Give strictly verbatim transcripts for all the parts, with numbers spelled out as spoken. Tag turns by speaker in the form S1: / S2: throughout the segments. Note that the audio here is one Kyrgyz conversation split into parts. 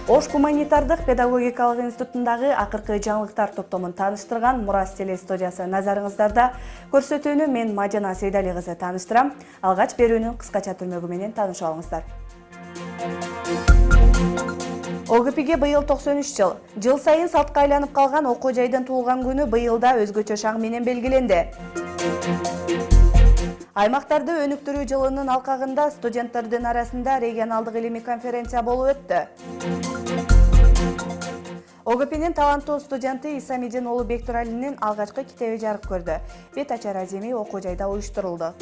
S1: Ош гуманитардык педагогикалык институтундагы акыркы жаңылыктар топтомун тааныштырган Мурас телестудиясы назарыңыздарда. Көрсөтүүнү мен Мажана Сейдали кызы тааныштырам. Алгач берүүнүн кыскача түрмөгү менен таанышып алыңыздар. ОГПге быйыл токсон үч жыл. Жыл сайын салтка айланып калган окуу жайдын туулган күнү быйыл да өзгөчө шаң менен белгиленди. Аймактарды өнүктүрүү жылынын алкагында студенттердин арасында регионалдык илимий конференция болуп өттү. ОГПнин таланттуу студенти Исамидин уулу Бектуралинин алгачкы китеби жарык көрдү. Бет ачар аземи окуу жайда уюштурулду.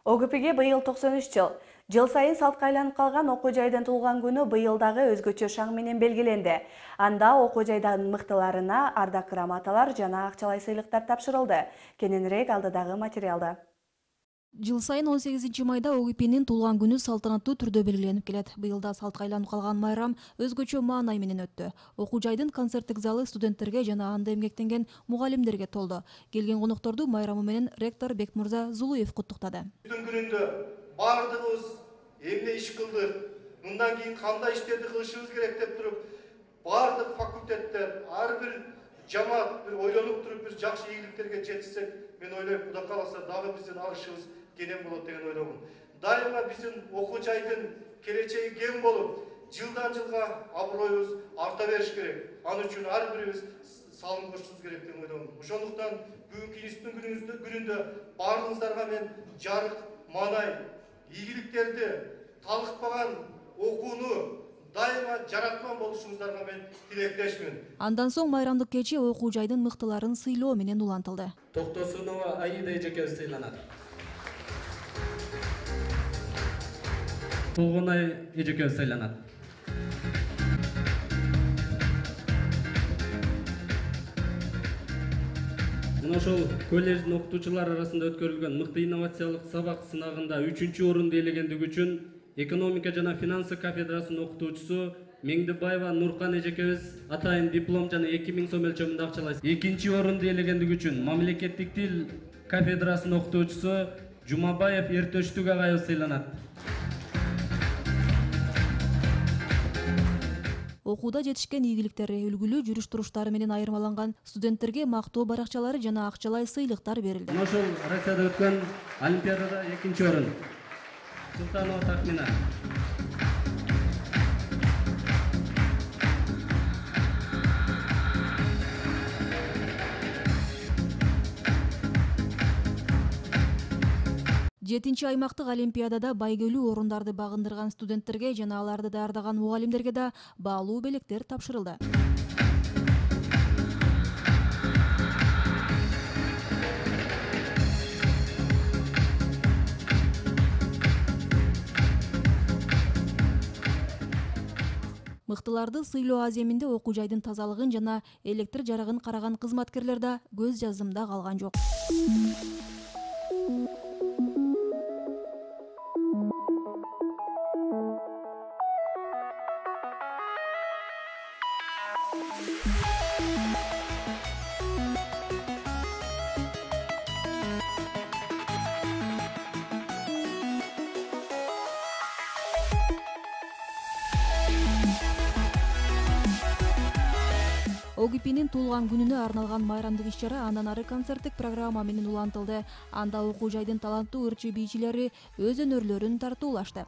S1: ОГПге быйыл токсон үч жыл. Жыл сайын салтка айланып калган окуу жайдын туулган күнү быйыл дагы өзгөчө шаң менен белгиленди. Анда окуу жайдын мыктыларына ардак грамоталар жана акчалай сыйлыктар тапшырылды. Кененирээк алдыдагы материалда.
S2: Жыл сайын он сегизинчи майда ОГПнин туулган күнү салтанаттуу түрдө белгиленип келет. Быйыл да салтка айланып калган майрам өзгөчө маанай менен өттү. Окуу жайдын концерттик залы студенттерге жана анда эмгектенген мугалимдерге толду. Келген конокторду майрамы менен ректор Бекмурза Зулуев куттуктады.
S3: Бүгүн күнүндө бардыгыбыз эмне иш кылдык, мындан кийин кандай иштерди кылышыбыз керек деп туруп, бардык факультеттер, ар бир жамаат бир ойлонуп туруп бир жакшы ийгиликтерге жетишсек, мен ойлойм, Кудай кааласа дагы биздин алышыбыз кенен болот деген ойлоймун. Дайыма биздин окуу жайдын келечеги кең болуп, жылдан жылга аброюбуз арта бериш керек. Ал үчүн ар бирибиз салым кошушубуз керек деп ойлоймун. Ошондуктан бүгүнкү институттун күнүндө баарыңыздарга мен жарык, маанай, ийгиликтерди, талыкпаган окууну дайыма жараткан болушуңуздарга мен тилектешмин.
S2: Андан соң майрамдык кечи окуу жайдын мыктыларын сыйлоо менен улантылды.
S4: Токтосунова Аида эжекебиз сыйланат. Толгонай эжекебиз сыйланат. Мына ошол колледждин окутуучулар арасында өткөрүлгөн мыкты инновациялык сабак сынагында үчүнчү орунду ээлегендиги үчүн экономика жана финансы кафедрасынын окутуучусу Меңдибаева Нуркан эжекебиз атайын диплом жана эки миң сом өлчөмүндө акчалай. Экинчи орунду ээлегендиги үчүн мамлекеттик тил кафедрасынын окутуучусу Жумабаев Эртөштүк агайыбыз сыйланат.
S2: Окууда жетишкен ийгиликтери, үлгүлүү жүрүш-туруштары менен айырмаланган студенттерге мактоо баракчалары жана акчалай сыйлыктар берилди.
S4: Мына ошол Россияда өткөн олимпиадада экинчи орун Султанова Тахмина.
S2: Жетинчи аймактык олимпиадада байгөлүү орундарды багындырган студенттерге жана аларды даярдаган мугалимдерге да баалуу белектер тапшырылды. Мыктыларды сыйлоо аземинде окуу жайдын тазалыгын жана электр жарыгын караган кызматкерлер да көз жаздымда калган жок. ОГПнин туулган күнүнө арналган майрамдык иш-чара андан ары концерттик программа менен улантылды. Анда окуу жайдын таланттуу ырчы бийчилери өз өнөрлөрүн тартуулашты.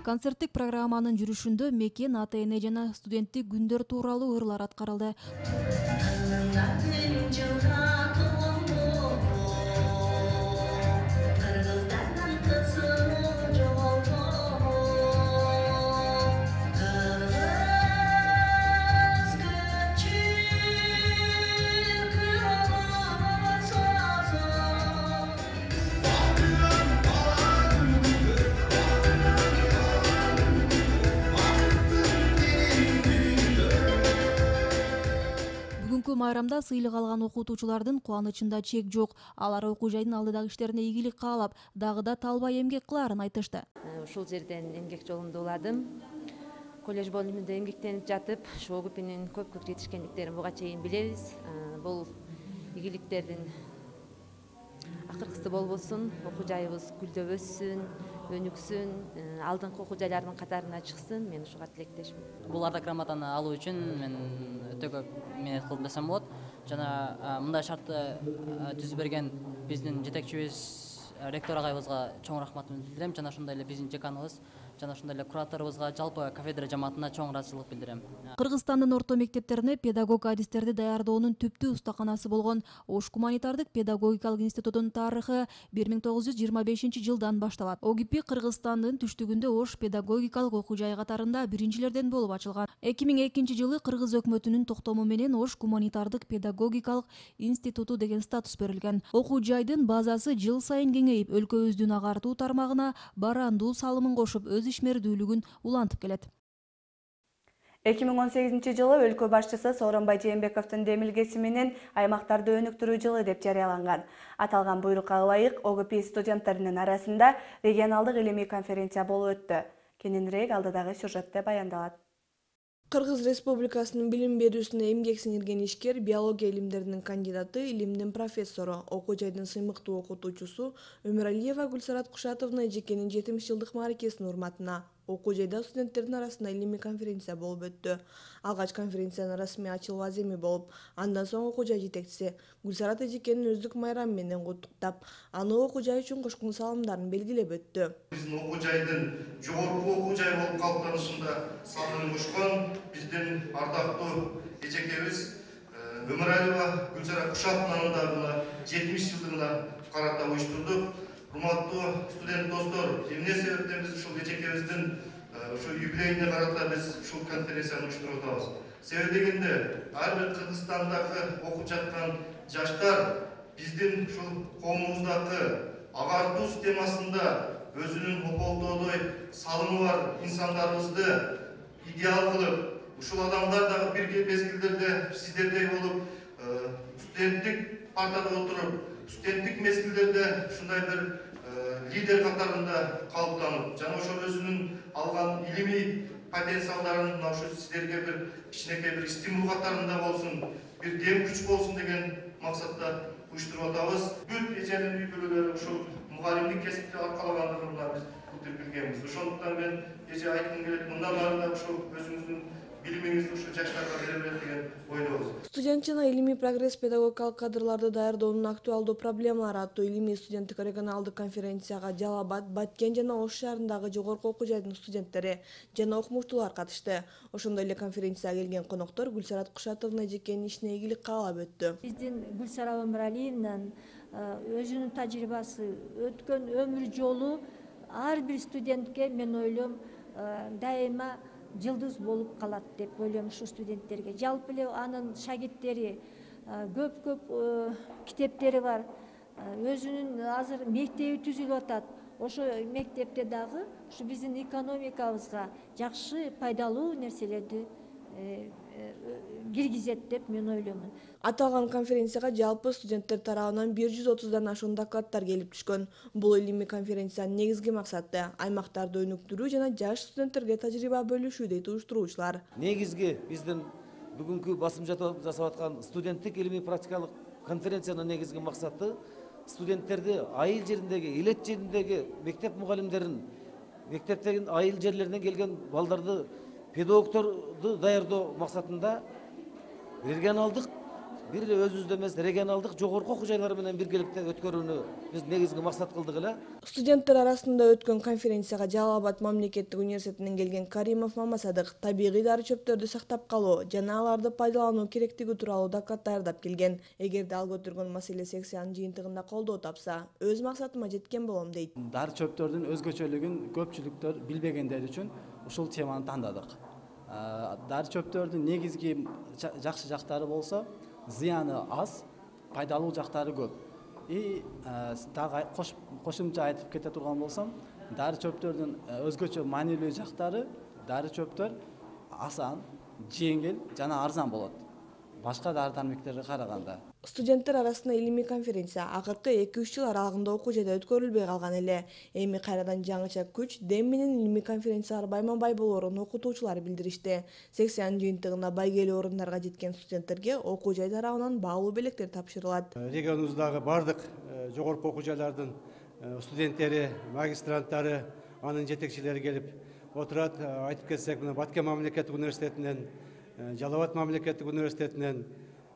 S2: Концерттик программанын жүрүшүндө мекен, ата-эне жана студенттик күндөр тууралуу ырлар аткарылды. майрамда сыйлык алган окутуучулардын кубанычында чек жок. Алар окуу жайдын алдыдагы иштерине ийгилик каалап, дагы да талбай эмгек кылаарын айтышты.
S5: Ушул жерден эмгек жолунда уладым. Колледж бөлүмүндө эмгектенип жатып, ушу ОГПнин көпкө жетишкендиктерин буга чейин билебиз. Бул ийгиликтердин акыркысы болбосун, окуу жайыбыз гүлдөп өссүн, өнүксүн, алдыңкы окуу жайлардын катарына чыксын. Мен ушуга тилектешмин.
S6: Бул ардак грамотаны алуу үчүн мен өтө көп мээнет кылдым десем болот. Жана мындай шартты түзүп берген биздин жетекчибиз ректор агайыбызга чоң рахматымды билдирем. Жана ошондой эле биздин деканыбыз, жана ошондой эле кураторубузга, жалпы кафедра жамаатына чоң ыраазычылык билдирем.
S2: Кыргызстандын орто мектептерине педагог адистерди даярдоонун түптүү устаканасы болгон Ош гуманитардык педагогикалык институтунун тарыхы бир миң тогуз жүз жыйырма бешинчи жылдан башталат. ОГП Кыргызстандын түштүгүндө Ош педагогикалык окуу жайы катарында биринчилерден болуп ачылган. эки миң экинчи жылы Кыргыз өкмөтүнүн токтому менен Ош гуманитардык педагогикалык институту деген статус берилген. Окуу жайдын базасы жыл сайын кеңейип, өлкөбүздүн агартуу тармагына барандуу салымын кошуп, өз ишмердүүлүгүн улантып келет.
S1: эки миң он сегизинчи жылы өлкө башчысы Сооронбай Жээнбековдун демилгеси менен аймактарды өнүктүрүү жылы деп жарыяланган. Аталган буйрукка ылайык ОГП студенттеринин арасында регионалдык илимий конференция болуп өттү. Кененирээк алдыдагы сюжетте баяндалат.
S7: Кыргыз Республикасынын билим берүүсүнө эмгек сиңирген ишкер, биология илимдеринин кандидаты, илимдин профессору, окуу жайдын сыймыктуу окутуучусу Өмүралиева Гүлсарат Кушатовна эжекенин жетимиш жылдык мааракесинин урматына окуу жайда студенттердин арасында илимий конференция болуп өттү. Алгач конференциянын расмий ачылуу аземи болуп, андан соң окуу жай жетекчиси Гүлсарат эжекенин өздүк майрамы менен куттуктап, аны окуу жай үчүн кошкон салымдарын белгилеп өттү.
S3: Биздин окуу жайдын жогорку окуу жай болуп калыптанышында салымын кошкон биздин ардактуу эжекебиз Өмүралиева Гүлсарат Кушатовнанын дагы жетимиш жылдыгына карата уюштурдук. Урматтуу студент достор, эмне себептен биз ушул эжекебиздин ушу юбилейине карата биз ушул конференцияны уюштуруп атабыз. Себеби дегенде, ар бир Кыргызстандагы окуп жаткан жаштар биздин ушул коомубуздагы агартуу системасында өзүнүн ополтоодой салымы бар инсандарыбызды идеал кылып, ушул адамдар дагы бир мезгилдерде сиздердей болуп, студенттик партада отуруп, студенттик мезгилдерде ушундай бир лидер катарында калыптанып, жана ошол өзүнүн алган илимий потенциалдарын мына ушу сиздерге бир кичинекей бир стимул катарында болсун, бир дем күч болсун деген максатта уюштуруп атабыз. Бүт эженин үй бүлөлөрү ушул мугалимдик кесипти аркалагандыгында биз бүтүп билгенбиз. Ошондуктан мен эже айткым келет, мындан ары да ушул өзүңүздүн билимиңизди ушу жаштарга бере берет деген ойдобуз.
S7: Студент жана илимий прогресс педагогикалык кадрларды даярдоонун актуалдуу проблемалары аттуу илимий студенттик регионалдык конференцияга Жалал Абад, Баткен жана Ош шаарындагы жогорку окуу жайдын студенттери жана окумуштуулар катышты. Ошондой эле конференцияга келген коноктор Гүлсарат Кушатовна эжекенин ишине ийгилик каалап өттү.
S8: Биздин Гүлсара Өмүралиевнан өзүнүн тажрыйбасы, өткөн өмүр жолу ар бир студентке мен ойлойм дайыма жылдыз болуп калат деп ойлойм ушу студенттерге. Жалпы эле анын шагирттери көп-көп китептери бар. Өзүнүн азыр мектеби түзүлүп атат. Ошо мектепте дагы ушу биздин экономикабызга жакшы пайдалуу нерселерди киргизет деп мен ойлоймун.
S7: Аталган конференцияга жалпы студенттер тарабынан бир жүз отуздан ашуун докладтар келип түшкөн. Бул илимий конференциянын негизги максаты аймактарды өнүктүрүү жана жаш студенттерге тажрыйба бөлүшүү дейт уюштуруучулар.
S9: Негизги биздин бүгүнкү басым жасап аткан студенттик илимий практикалык конференциянын негизги максаты студенттерди айыл жериндеги, элет жериндеги мектеп мугалимдерин, мектептен айыл жерлеринен келген балдарды, педагогторду даярдоо максатында регионалдык, бир эле өзүбүздө эмес, регионалдык жогорку окуу жайлар менен биргеликте өткөрүүнү биз негизги максат кылдык эле.
S7: Студенттер арасында өткөн конференцияга Жалал Абад мамлекеттик университетинен келген Каримов Мамасадык табигый дары чөптөрдү сактап калуу жана аларды пайдалануу керектиги тууралуу доклад даярдап келген. Эгерде ал көтөргөн маселе сессиянын жыйынтыгында колдоо тапса, өз максатыма жеткен болом дейт.
S10: Дары чөптөрдүн өзгөчөлүгүн көпчүлүктөр билбегендер үчүн ушул теманы тандадык. Дары чөптөрдүн негизги жакшы жактары болсо, зыяны аз, пайдалуу жактары көп. И дагы кошумча айтып кете турган болсом, дары чөптөрдүн өзгөчө маанилүү жактары, дары чөптөр асан, жеңил жана арзан болот. башка дары дармектерге караганда.
S7: Студенттер арасында илимий конференция акыркы эки үч жыл аралыгында окуу жайда өткөрүлбөй калган эле. Эми кайрадан жаңыча күч, дем менен илимий конференциялар байма-бай болоорун окутуучулар билдиришти. Сессиянын жыйынтыгында байгелүү орундарга жеткен студенттерге окуу жай тарабынан баалуу белектер тапшырылат.
S11: Регионубуздагы бардык жогорку окуу жайлардын студенттери, магистранттары, анын жетекчилери келип отурат. Айтып кетсек, мына Баткен мамлекеттик университетинен, Жалал Абад мамлекеттик университетинен,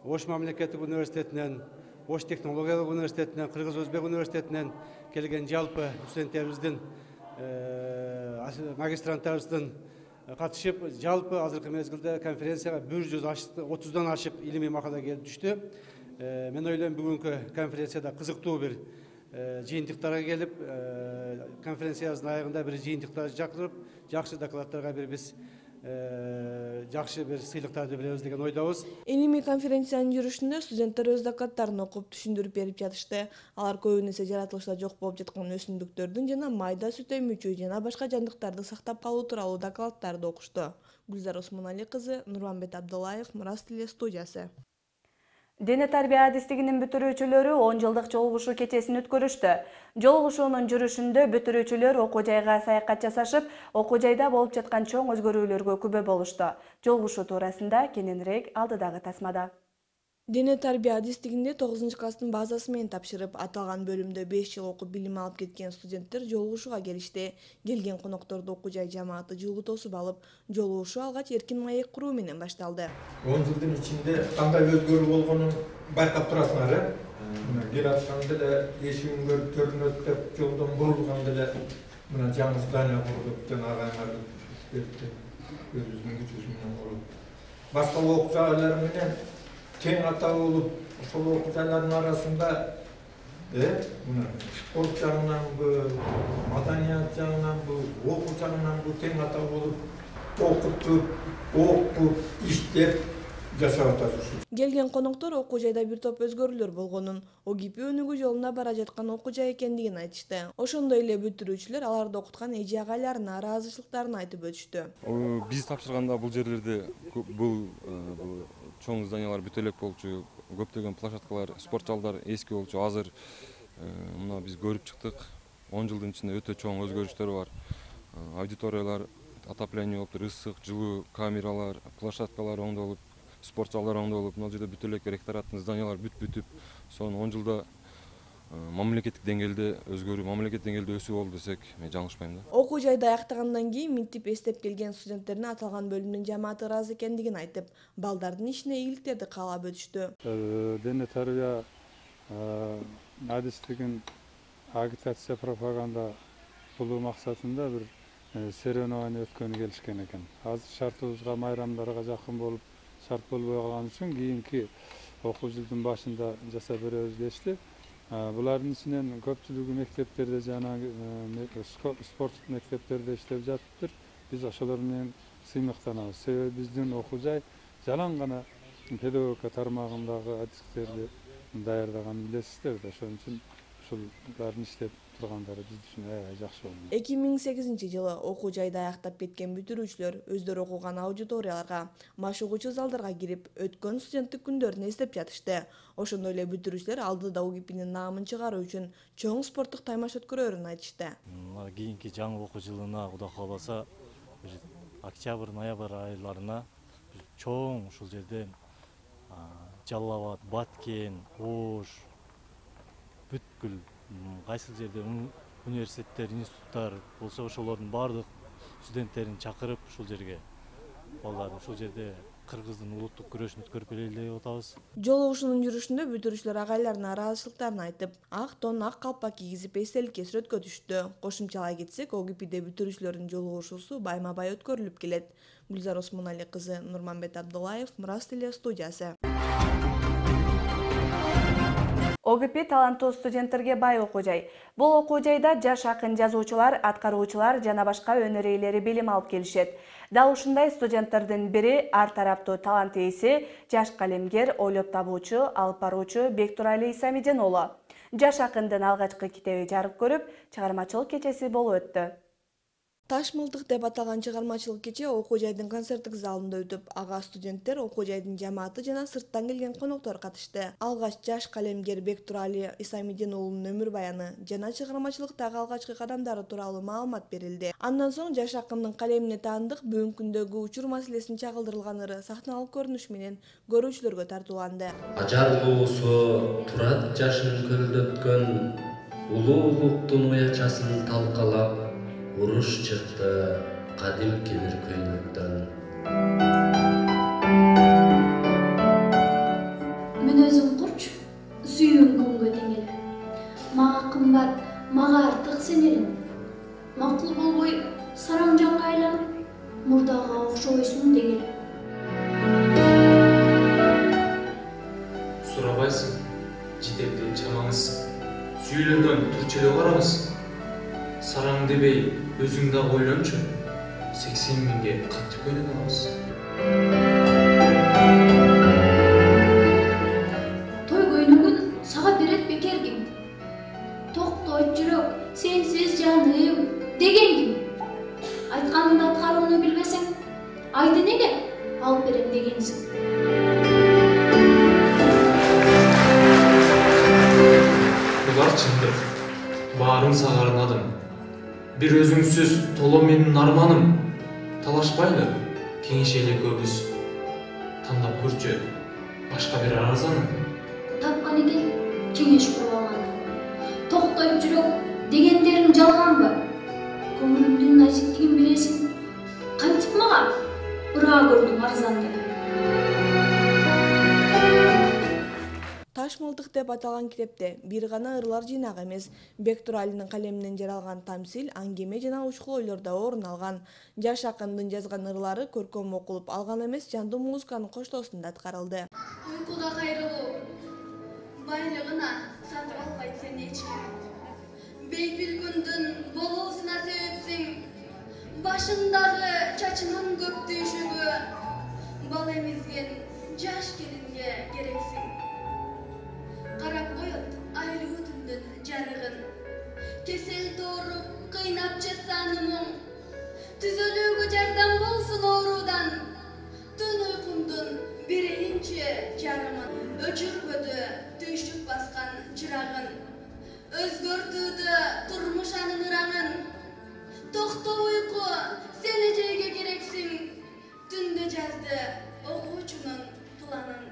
S11: Ош мамлекеттик университетинен, Ош технологиялык университетинен, Кыргыз Өзбек университетинен келген жалпы студенттерибиздин, магистранттарыбыздын катышып, жалпы азыркы мезгилде конференцияга бир жүз отуздан ашык илимий макала келип түштү. Мен ойлойм, бүгүнкү конференцияда кызыктуу бир жыйынтыктарга келип, конференциябыздын аягында бир жыйынтыктар чакырып, жакшы докладдарга бир биз жакшы бир сыйлыктарды беребиз деген ойдобуз.
S7: Илимий конференциянын жүрүшүндө студенттер өз докладдарын окуп, түшүндүрүп берип жатышты. Алар көбүнесе жаратылышта жок болуп жаткан өсүмдүктөрдүн жана майда сүт эмүүчү жана башка жандыктарды сактап калуу тууралуу докладдарды окушту. Гүлзар Осмонали кызы, Нурманбет Абдуллаев, Мурас Теле студиясы.
S1: Дене тарбия адистигинин бүтүрүүчүлөрү он жылдык жолугушуу кечесин өткөрүштү. Жолугушуунун жүрүшүндө бүтүрүүчүлөр окуу жайга саякат жасашып, окуу жайда болуп жаткан чоң өзгөрүүлөргө күбө болушту. Жолугушуу туурасында кененирээк алдыдагы тасмада.
S7: Дене тарбия адистигинде тогузунчу класстын базасы менен тапшырып, аталган бөлүмдө беш жыл окуп билим алып кеткен студенттер жолугушууга келишти. Келген конокторду окуу жай жамааты жылгы тосуп алып, жолугушуу алгач эркин маек куруу менен башталды.
S12: он жылдын ичинде кандай өзгөрүү болгонун байкап турасыңар, э? Кел атканда эле эшигин көрүп көрүнөт деп жолдон бурулганда эле мына жаңы здание курдук жана агайлар кетти. Өзүбүздүн күчүбүз менен куруп. Башка окуу жайлар менен тең ата болуп, ошол окуу жайлардын арасында э, мына спорт жагынанбы, маданият жагынанбы, окуу жагынанбы тең ата болуп, окутуп, окуп, иштеп жашап атабыз.
S7: Келген коноктор окуу жайда бир топ өзгөрүүлөр болгонун, ОГИП өнүгүү жолуна бара жаткан окуу жай экендигин айтышты. Ошондой эле бүтүрүүчүлөр аларды окуткан эже агайларына ыраазычылыктарын айтып өтүштү.
S13: Биз тапшырганда бул жерлерде бул чоң зданиялар бүт элек болчу, көптөгөн площадкалар, спорт залдар эски болчу. Азыр мына биз көрүп чыктык. он жылдын ичинде өтө чоң өзгөрүштөр бар. Аудиториялар, отопление болуптур, ысык, жылуу камералар, площадкалар оңдолуп, спорт залдар оңдолуп, мына жерде бүт элек ректораттын зданиялары бүт бүтүп, сонун он жылда мамлекеттик деңгээлде өзгөрүү, мамлекеттик деңгээлде өсүү болду десек, мен жаңылышпайм да.
S7: Окуу жайды аяктагандан кийин минтип эстеп келген студенттердин аталган бөлүмдүн жамааты ыраазы экендигин айтып, балдардын ишине ийгиликтерди каалап өтүштү.
S14: Дене тарбия адистигин агитация, пропаганда кылуу максатында бир соревнование өткөнү келишкен экен. Азыр шартыбызга, майрамдарга жакын болуп, шарт болбой калган үчүн кийинки окуу жылдын башында жасап беребиз дешти. Булардын ичинен көпчүлүгү мектептерде жана спорт мектептерде иштеп жатыптыр. Биз ошолор менен сыймыктанабыз. Себеби биздин окуу жай жалаң гана педагогика тармагындагы адистерди даярдаганын билесиздер да. Ошон үчүн ушулардын иштеп тургандары биз үчүн аябай жакшы болду.
S7: эки миң сегизинчи жылы окуу жайды аяктап кеткен бүтүрүүчүлөр өздөрү окуган аудиторияларга, машыгуучу залдарга кирип, өткөн студенттик күндөрүн эстеп жатышты. Ошондой эле бүтүрүүчүлөр алдыда ОГИПнин наамын чыгаруу үчүн чоң спорттук таймаш өткөрөөрүн айтышты.
S15: Кийинки жаңы окуу жылына Кудай кааласа, октябрь, ноябрь айларына чоң ушул жерде Жалал Абад, Баткен, Ош, бүткүл кайсыл жерде университеттер, институттар болсо ошолордун баардык студенттерин чакырып ушул жерге балдарды ушул жерде кыргыздын улуттук күрөшүн өткөрүп келели деп атабыз.
S7: Жолугушуунун жүрүшүндө бүтүрүүчүлөр агайларына ыраазычылыктарын айтып, ак тон, ак калпак кийгизип эстеликке сүрөткө түштү. Кошумчалай кетсек, ОГИПде бүтүрүүчүлөрдүн жолугушуусу байма-бай өткөрүлүп келет. Гүлзар Осмонали кызы, Нурманбет Абдуллаев, Мурас Теле студиясы.
S1: ОГИП таланттуу студенттерге бай окуу жай. Бул окуу жайда жаш акын жазуучулар, аткаруучулар жана башка өнөр ээлери билим алып келишет. Дал ушундай студенттердин бири ар тараптуу талант ээси, жаш калемгер, ойлоп табуучу, алып баруучу Бектурали Исамиден уулу. Жаш акындын алгачкы китеби жарык көрүп, чыгармачылык кечеси болуп өттү.
S7: Таш мылтык деп аталган чыгармачылык кече окуу жайдын концерттик залында өтүп, ага студенттер, окуу жайдын жамааты жана сырттан келген коноктор катышты. Алгач жаш калемгер Бектурали Исамидин уулунун өмүр баяны жана чыгармачылыктагы алгачкы кадамдары тууралуу маалымат берилди. Андан соң жаш акындын калемине таандык бүгүнкү күндөгү учур маселесин чагылдырылган ыры сахналык көрүнүш менен көрүүчүлөргө тартууланды.
S16: Ажарлуусу турат жашын көлдөткөн улуулуктун уячасын талкалап, уруш чыкты кадимки бир көйнөктөн.
S17: Мен өзүм курч, сүйүүм күнгө тең эле. Мага кымбат, мага артык сенелим. Макул болбой сараң жанга айланып, мурдага окшобойсуң дең эле.
S18: Сурабайсың, жетекти чамаңыз. Сүйүлөрдөн турчу эле карабыз. Сараң дебей, өзүң да ойлончу. сексен миңге кантип көйнөк алабыз?
S17: Той көйнөгүн сага берет бекер ким? Токтойт жүрөк, сенсиз жаным деген ким? Айтканыңды аткарууну билбесең, айды неге алып берем дегенсиң?
S18: Булар чындык. Баарын сага арнадым. Бир өзүңсүз толо менин арманым. Талашпайлы, кеңешели көбүз. Тандап көрчү, башка бир арзаным.
S17: Тапкан экен, кеңеш куруп алган. Токтойт жүрөк дегендерин жалганбы? Көңүлүмдүн назиктигин билесиң. Кантип мага ыраа көрдүң арзанды?
S7: Таш мылтык деп аталган китепте бир гана ырлар жыйнагы эмес, Бектуралинин калеминен жаралган тамсил, аңгеме жана учкул ойлор да орун алган. Жаш акындын жазган ырлары көркөм окулуп алган эмес, жандуу музыканын коштоосунда аткарылды.
S19: Уйкуга кайрылуу, байлыгына сатып албайт сени эч ким. Бейпил күндүн болуусуна себепсиң, башындагы чачынын көп түйшүгү, бал эмизген жаш келинге керексиң. Карап коет айлуу түндүн жарыгын, кесел тооруп кыйнап жатсаны мұң. Түзөлүүгө жардам болсун оорудан, түн уйкумдун биринчи жарымын. Өчүрбөдү түйшүк баскан чырагын, өзгөртүүдө турмуш анын ыраңын. Токто уйку, сен эжеге керексиң, түндө жазды окуучунун планын.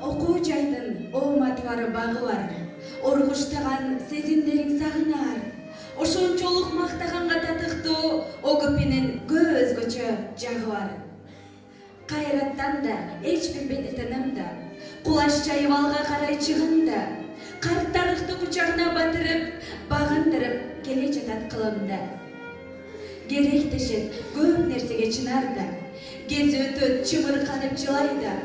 S20: Окуу жайдын ооматы бар багы бар, оргуштаган сезимдериң сагынаар. Ошончолук мактаганга татыктуу о көпүнүн көп өзгөчө жагы бар. Кайраттан да, эч бир бедетенем да, кулаш жайып алга карай чыгында, карт тарыхты кучагына батырып, багындырып келе жатат кылымда. Керектешет көп нерсеге чынарда, кези өтөт чымырканып жылайда.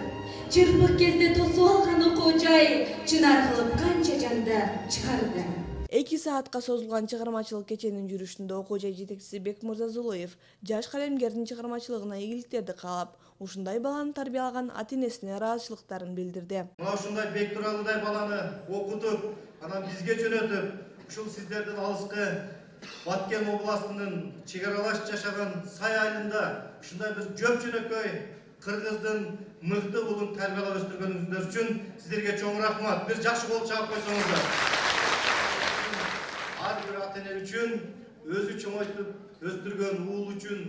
S20: Чырпык кезде тосуп алган окуу жай, чынар кылып канча жанды чыгарды.
S7: эки саатка созулган чыгармачылык кеченин жүрүшүндө окуу жай жетекчиси Бекмырза Зулуев жаш калемгердин чыгармачылыгына ийгиликтерди каалап, ушундай баланы тарбиялаган ата-энесине ыраазычылыктарын билдирди.
S3: Мына ушундай Бектуралыдай баланы окутуп, анан бизге жөнөтүп, ушул сиздердин алыскы Баткен областынын чек аралаш жашаган Сай айылында ушундай бир жөп жөнөкөй кыргыздын мыкты уулун тарбиялап өстүргөнүңүздөр үчүн сиздерге чоң рахмат. Бир жакшы кол чаап койсоңуздар. Ар бир ата-эне үчүн, өзү чоңойтуп өстүргөн уул үчүн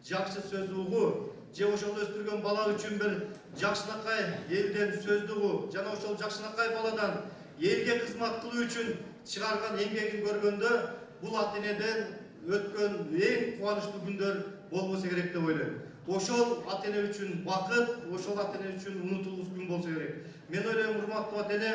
S3: жакшы сөз угуу, же ошол өстүргөн бала үчүн бир жакшынакай элден сөздү угуу, жана ошол жакшынакай баладан элге кызмат кылуу үчүн чыгарган эмгегин көргөндө бул ата-энеден өткөн эң кубанычтуу күндөр болбосо керек деп ойлойм. Ошол ата-эне үчүн бакыт, ошол ата-эне үчүн унутулгус күн болсо керек. Мен ойлойм, урматтуу ата-эне,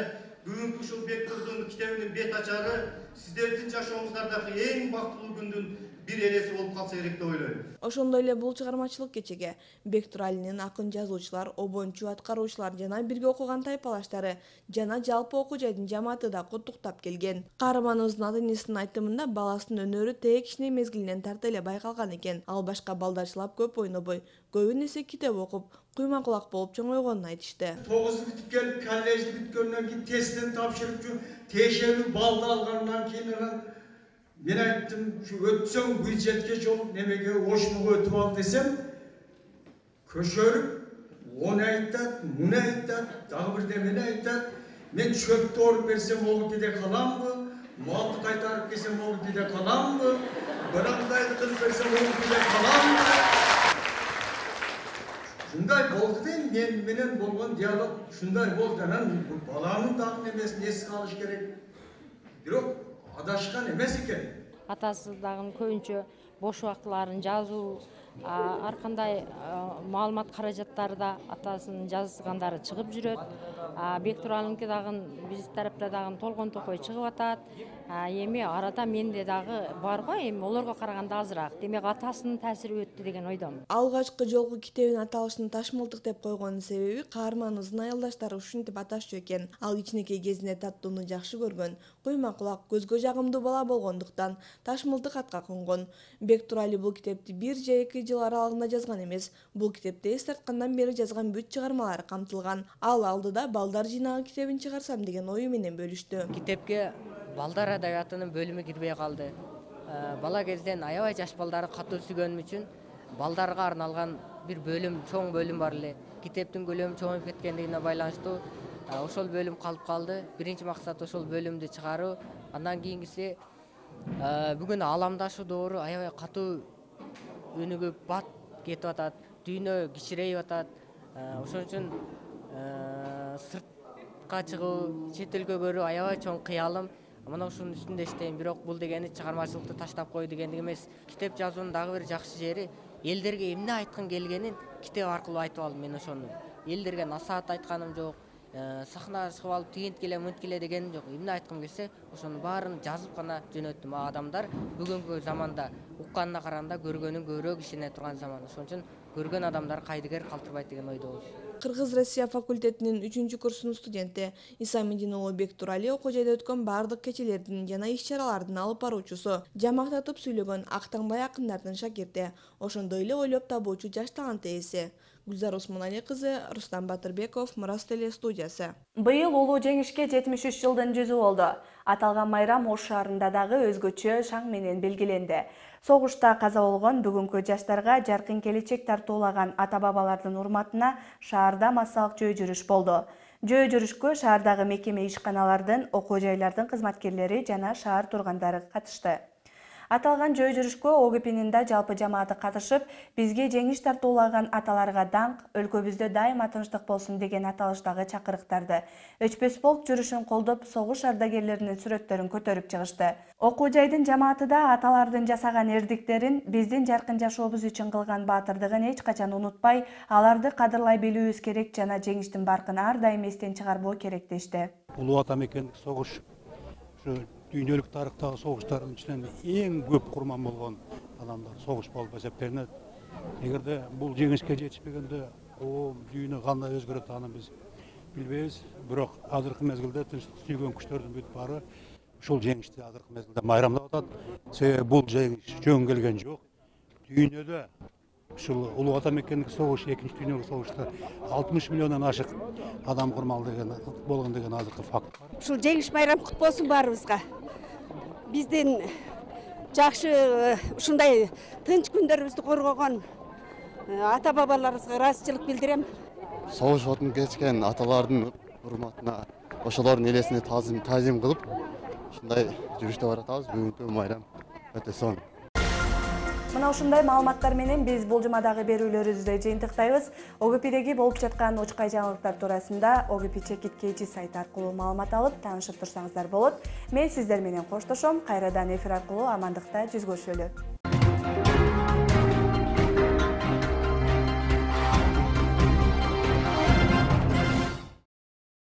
S3: бүгүнкү ушул Бектурдун китебинин бет ачары сиздердин жашооңуздардагы эң бактылуу күндүн бир элеси болуп калса керек деп ойлойм.
S7: Ошондой эле бул чыгармачылык кечеге Бектуралинин акын жазуучулар, обончу аткаруучулар жана бирге окуган тайпалаштары жана жалпы окуу жайдын жамааты да куттуктап келген. Каарманыбыздын ата-энесинин айтымында баласынын өнөрү тээ кичине мезгилинен тарта эле байкалган экен. Ал башка балдарчылап көп ойнобой, көбүн эсе китеп окуп, куйма кулак болуп чоңойгонун айтышты.
S21: тогузду бүтүп келип, коллежди бүткөндөн кийин тесттен тапшырып, тиешелүү балды алгандан кийин мен айттым, өтсөң бюджетке жолуп немеге ошмуга өтүп ал десем, көшөрүп, оны айтат, муну айтат, дагы бирдемени айтат. Мен чөптү оруп берсем, ол кеде каламбы? Малды кайтарып келсем, ол кеде каламбы? Бирандайды кылып берсем, ол кеде каламбы? Шундай болду дейм, мен менен болгон диалог шундай болду. Анан баланын дагы немесин эске алыш керек. Бирок адашкан эмес экен.
S5: Атасы дагы көбүнчө бош убактыларын жазуу, ар кандай маалымат каражаттары да атасынын жазгандары чыгып жүрөт. Бектуралынки дагы биз тарапта дагы толгон токой чыгып атат. Эми арада менде дагы бар го, эми олорго караганда азыраак. Демек атасынын таасири өттү деген ойдомун.
S7: Алгачкы жолку китебин аталышын Ташмылтык деп койгонун себеби каарманыбыздын аялдаштары ушинтип аташчу экен. Ал кичинекей кезинде таттууну жакшы көргөн, куйма кулак, көзгө жагымдуу бала болгондуктан Ташмылтык атка конгон. Бектурали бул китепти бир же эки жыл аралыгында жазган эмес. Бул китепте эс тарткандан бери жазган бүт чыгармалары камтылган. Ал алдыда балдар жыйнагы китебин чыгарсам деген ою менен бөлүштү.
S22: Китепке балдар адабиятынын бөлүмү кирбей калды. Бала кезден аябай жаш балдары катуу сүйгөнүм үчүн балдарга арналган бир бөлүм, чоң бөлүм бар эле. Китептин көлөмү чоңоюп кеткендигине байланыштуу ошол бөлүм калып калды. Биринчи максат ошол бөлүмдү чыгаруу. Андан кийинкиси бүгүн ааламдашуу доору аябай катуу өнүгүп бат кетип атат. Дүйнө кичирейип атат. Ошон үчүн сыртка чыгуу, чет элге көрүү аябай чоң кыялым. Мына ушунун үстүндө иштейм, бирок бул дегени чыгармачылыкты таштап кой дегендик эмес. Китеп жазуунун дагы бир жакшы жери элдерге эмне айткым келгенин китеп аркылуу айтып алдым мен ошону. Элдерге насаат айтканым жок, сахнага чыгып алып тигинткиле, мынткиле дегеним жок. Эмне айткым келсе, ошонун баарын жазып гана жөнөттүм. Адамдар бүгүнкү заманда укканына караганда көргөнүн көбүрөөк ишене турган заман. Ошон үчүн көргөн адамдар кайдыгер калтырбайт деген ойдобуз.
S7: Кыргыз-Россия факультетинин үчүнчү курсунун студенти Исамидин уулу Бектурали окуу жайда өткөн бардык кечелердин жана иш-чаралардын алып баруучусу, жамактатып сүйлөгөн Актаңбай акындардын шакирти, ошондой эле ойлоп табуучу жаш талант ээси. Гүлзар Осмонали кызы, Рустам Батырбеков, Мурас теле студиясы.
S1: Быйыл улуу жеңишке жетимиш үч жылдын жүзү болду. Аталган майрам Ош шаарында дагы өзгөчө шаң менен белгиленди. Согушта каза болгон бүгүнкү жаштарга жаркын келечек тартуулаган ата-бабалардын урматына шаарда массалык жөө жүрүш болду. Жөө жүрүшкө шаардагы мекеме ишканалардын, окуу жайлардын кызматкерлери жана шаар тургандары катышты. Аталган жөө жүрүшкө ОГПнин да жалпы жамааты катышып, бизге жеңиш тартуулаган аталарга даңк, өлкөбүздө дайыма тынчтык болсун деген аталыштагы чакырыктарды. Өчпөс полк жүрүшүн колдоп, согуш ардагерлеринин сүрөттөрүн көтөрүп чыгышты. Окуу жайдын жамааты да аталардын жасаган эрдиктерин, биздин жаркын жашообуз үчүн кылган баатырдыгын эч качан унутпай, аларды кадырлай билүүбүз керек жана жеңиштин баркын ар дайым эстен чыгарбоо керек дешти.
S11: Улуу ата мекендик согуш дүйнөлүк тарыхтагы согуштардын ичинен эң көп курман болгон адамдар согуш болуп эсептелинет. Эгерде бул жеңишке жетишпегенде коом, дүйнө кандай өзгөрөт аны биз билбейбиз. Бирок азыркы мезгилде тынчтык сүйгөн күчтөрдүн бүт баары ушул жеңишти азыркы мезгилде майрамдап атат. Себеби бул жеңиш жөн келген жок. Дүйнөдө ушул улуу ата мекендик согуш, экинчи дүйнөлүк согушта алтымыш миллиондон ашык адам курмал деген болгон деген азыркы факт.
S23: Ушул жеңиш майрам кут болсун баарыбызга. Биздин жакшы ушундай тынч күндөрүбүздү коргогон ата-бабаларыбызга ыраазычылык билдирем.
S24: Согуш отун кечкен аталардын урматына, ошолордун элесине таазим таазим кылып, ушундай жүрүштө баратабыз. Бүгүнкү майрам өтө сонун.
S1: Мына ушундай маалыматтар менен биз бул жумадагы берүүлөрүбүздү жыйынтыктайбыз. ОГПдеги болуп жаткан учкай жаңылыктар туурасында ОГП Чекит Кечи сайты аркылуу маалымат алып, таанышып турсаңыздар болот. Мен сиздер менен коштошом. Кайрадан эфир аркылуу амандыкта жүз көрүшөлү.